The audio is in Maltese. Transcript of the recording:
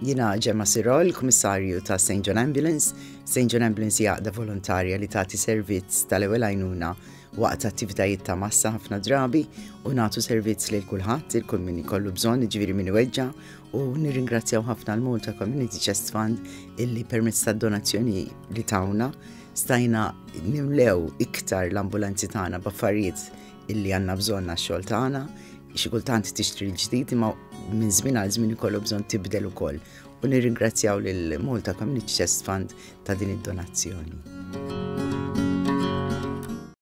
Jiena Gemma Sirol, Kummissarju ta' St. John Ambulance. St. John Ambulance hija għaqda volontarja li tagħti servizz tal-ewwel għajnuna waqt attivitajiet ta' massa ħafna drabi u nagħtu servizz lil kulħadd, il kull min ikollu bżonn, jiġifieri min iweġġa' u nirringrazzjaw ħafna l-Malta Community Chest Fund illi permezz tad-donazzjoni li tawna stajna nimlew iktar l-ambulanzi tagħna b'affarijiet illi għandna bżonn għax-xogħol tagħna. Xi kultant tixtri l-ġdid imma minn żmien għal żmien ikollu bżonn tibdel ukoll. U nirringrazzjaw lil Malta Community Chest Fund ta' din id-donazzjoni.